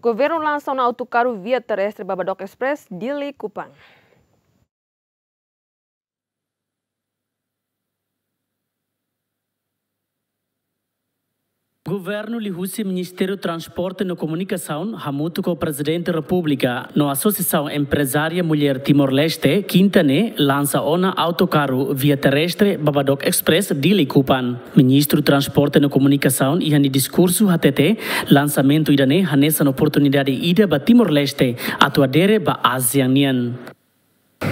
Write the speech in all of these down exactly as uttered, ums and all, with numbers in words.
Governu lansa ona autokaru via terrestre Babadook Express, Dili Kupang. Governu liuhusi Ministériu Transporte no Komunikasaun, hamutuk ho Prezidente Repúblika no Asosiasaun Emprezária Mulher Timor-Leste, kinta ne'e, lansa ona autokaru via terrestre Babadook Express, Dili Kupang. Ministru Transporte no Komunikasaun iha nia diskursu hatete, lansamentu ida-ne'e hanesan oportunidade ida ba Timor-Leste atu adere ba ASEAN nian.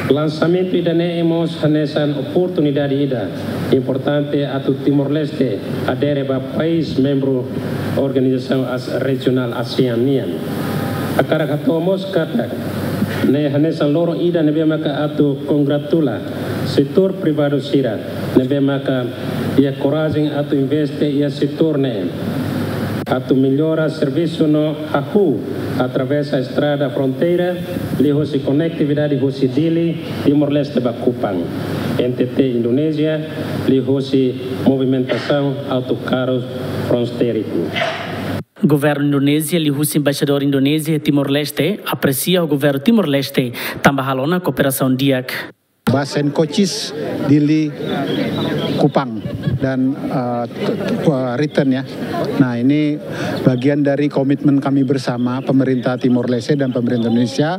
Lansamentu ida-ne'e mós hanesan oportunidade ida importante atu Timor-Leste adere ba país membru organizasaun as-, rejionál ASEAN nian. Hakarak hato'o mós katak ne'e hanesan loron ida ne'ebé maka atu kongratula setór privadu sira ne'ebé maka iha korajen atu investe iha setór ne'e, atu mellora servisu no hahú atravesa estrada fronteira, liuhusi konektividade husi Dili, Timor-Leste ba Kupang, NTT Indonézia, liuhusi movimentasaun autokaru fronteiriku. Governu Indonézia liuhusi Embaixadór Indonézia iha Timor-Leste apresia ho Governu Timor-Leste tanba halo ona kooperasaun di'ak. Ba Saint Coaches, Dili, Kupang, dan, eh, t-, t-, return, ya. Nah, ini bagian dari komitmen kami bersama, pemerintah Timor Leste dan pemerintah Indonesia,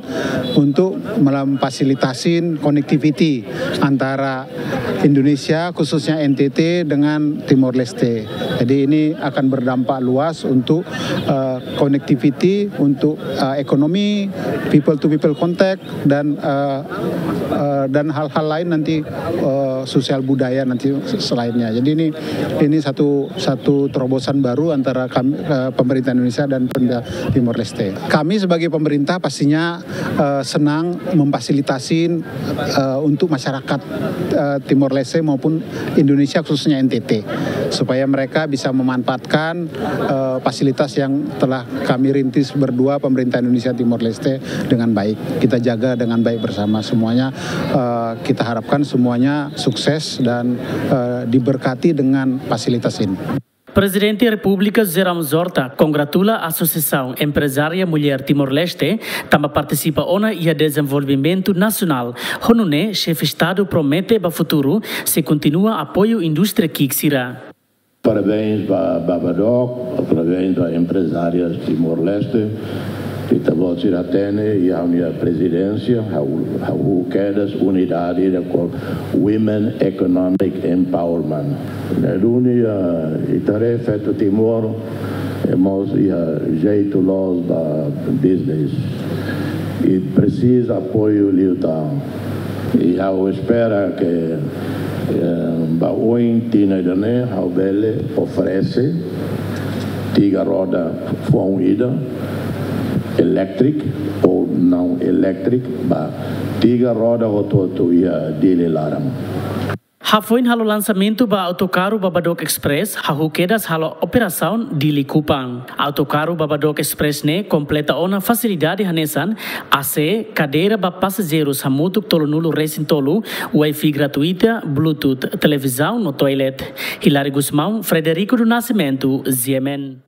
untuk memfasilitasin connectivity antara Indonesia, khususnya N T T, dengan Timor Leste. Jadi, ini akan berdampak luas untuk, eh, connectivity, untuk, eh, ekonomi, people to people contact, dan, eh, eh, dan hal-hal lain nanti, eh, sosial budaya nanti selainnya. Jadi ini, ini satu, satu terobosan baru antara kami, eh, pemerintah Indonesia dan pemerintah Timor Leste. Kami sebagai pemerintah pastinya, eh, senang memfasilitasin, eh, untuk masyarakat, eh, Timor Leste maupun Indonesia, khususnya N T T, supaya mereka bisa memanfaatkan, eh, fasilitas yang telah kami rintis berdua, pemerintah Indonesia Timor Leste, dengan baik. Kita jaga dengan baik bersama semuanya. Eh, kita harapkan semuanya sukses dan, eh, diberkati dengan fasilitas ini. Prezidente Repúblika José Ramos Horta kongratula Asosiasaun Emprezária Mulher Timor-Leste tanba partisipa ona iha dezenvolvimentu nasionál. Ho nune'e, Xefe Estadu promete ba futuru sei kontinua apoiu indústria ki'ik sira. Parabéns ba Babadook, parabéns ba emprezárias Timor-Leste. Ita-boot sira hatene, iha ha'u-nia prezidénsia, ha'u, ha'u kedas unidade ida called Women Economic Empowerment. Ne'e duni, eh, ita haree feto Timor, eh, mós iha jeitu loos ba business. I presiza apoiu liután. I ha'u espera ke, eh, ba oin tinan ida-ne'e, ha'u bele oferese tiga roda foun ida, electric ou não electric, ba tiga roda hotu-hotu iha Dili laran. Hafoin halo lansamentu ba autokaru Babadook Express, hahú kedas halo operasaun Dili Kupang. Autokaru Babadook Express ne'e kompleta ona fasilidade hanesan A C, kadeira ba pasajeirus hamutuk tolunulu-resin-tolu, Wi-Fi gratuita, Bluetooth, televizaun no toilet. Hilary Gusmão, Frederico do Nascimento, G M N.